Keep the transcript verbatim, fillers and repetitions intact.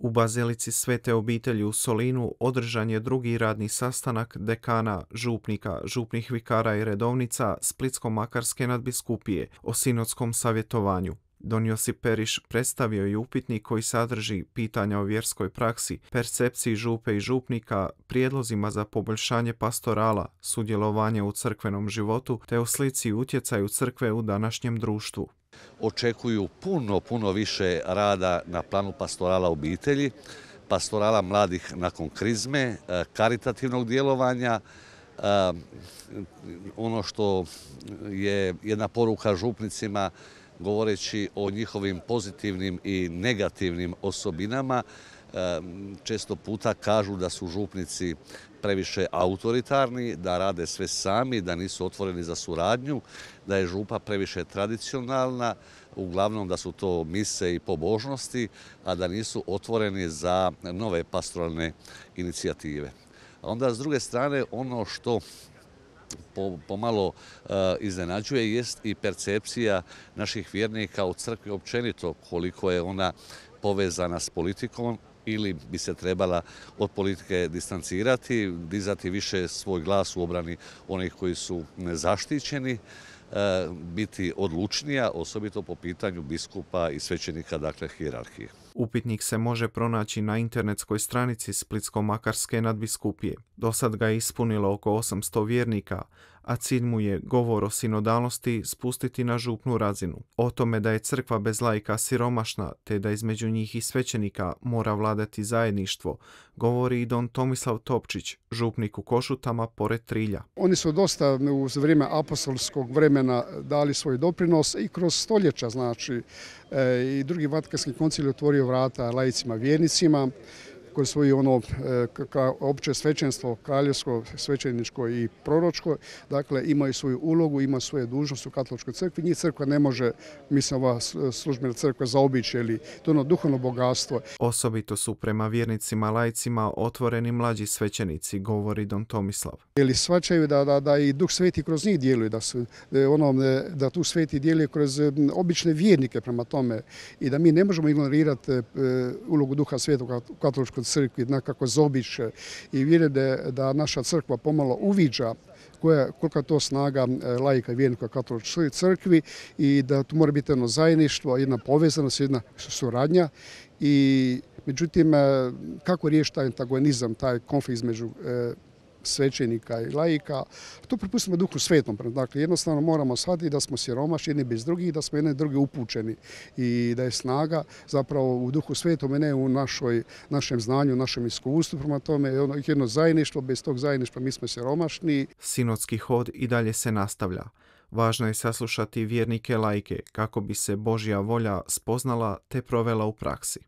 U Bazilici Svete obitelji u Solinu održan je drugi radni sastanak dekana, župnika, župnih vikara i redovnica Splitsko-makarske nadbiskupije o sinodskom savjetovanju. Don Josip Periš predstavio je upitnik koji sadrži pitanja o vjerskoj praksi, percepciji župe i župnika, prijedlozima za poboljšanje pastorala, sudjelovanje u crkvenom životu te o slici i utjecaju crkve u današnjem društvu. Očekuju puno, puno više rada na planu pastorala obitelji, pastorala mladih nakon krizme, karitativnog djelovanja. Ono što je jedna poruka župnicima, govoreći o njihovim pozitivnim i negativnim osobinama, često puta kažu da su župnici previše autoritarni, da rade sve sami, da nisu otvoreni za suradnju, da je župa previše tradicionalna, uglavnom da su to mise i pobožnosti, a da nisu otvoreni za nove pastoralne inicijative. A onda s druge strane ono što pomalo iznenađuje jest i percepcija naših vjernika u crkvi općenito, koliko je ona povezana s politikom ili bi se trebala od politike distancirati, dizati više svoj glas u obrani onih koji su nezaštićeni, biti odlučnija, osobito po pitanju biskupa i svećenika, dakle hijerarhije. Upitnik se može pronaći na internetskoj stranici Splitsko-makarske nadbiskupije. Do sad ga je ispunilo oko osamsto vjernika, a cilj mu je govor o sinodalnosti spustiti na župnu razinu. O tome da je crkva bez laika siromašna, te da između njih i svećenika mora vladati zajedništvo, govori i don Tomislav Topčić, župnik u Košutama pored Trilja. Oni su dosta u vrijeme apostolskog vremena dali svoj doprinos i kroz stoljeća, znači i drugi Vatikanski koncil je otvorio vrata laicima vjernicima koji svoju ono opće svećenstvo, kraljevsko, svećeničko i proročko, dakle imaju svoju ulogu, ima svoje dužnosti u katoličkoj crkvi. Njih crkva ne može, mislim, ova službena crkva zaobići, ili to ono duhovno bogatstvo. Osobito su prema vjernicima laicima otvoreni mlađi svećenici, govori don Tomislav. Ili shvaćaju da, da, da i Duh Sveti kroz njih djeluje, da, su, ono, da tu Sveti djeluje kroz obične vjernike prema tome i da mi ne možemo ignorirati ulogu Duha Svetog u katoličkoj crkvi, nekako zobiće i vjerujem da, da naša crkva pomalo uviđa koja, kolika je to snaga laika i vjernika katoličkoj crkvi i da tu mora biti jedno zajedništvo, jedna povezanost, jedna suradnja. I međutim, kako riješiti taj antagonizam, taj konflikt između svećenika i laika, to prepustimo Duhu Svetom. Dakle, jednostavno moramo shvatiti da smo siromašni jedni bez drugih, da smo jedni drugi upućeni i da je snaga zapravo u Duhu Svetom, a ne u našoj, našem znanju, našem iskustvu. Prema tome, jedno zajedništvo, bez tog zajedništva mi smo siromašni. Sinodski hod i dalje se nastavlja. Važno je saslušati vjernike laike kako bi se Božja volja spoznala te provela u praksi.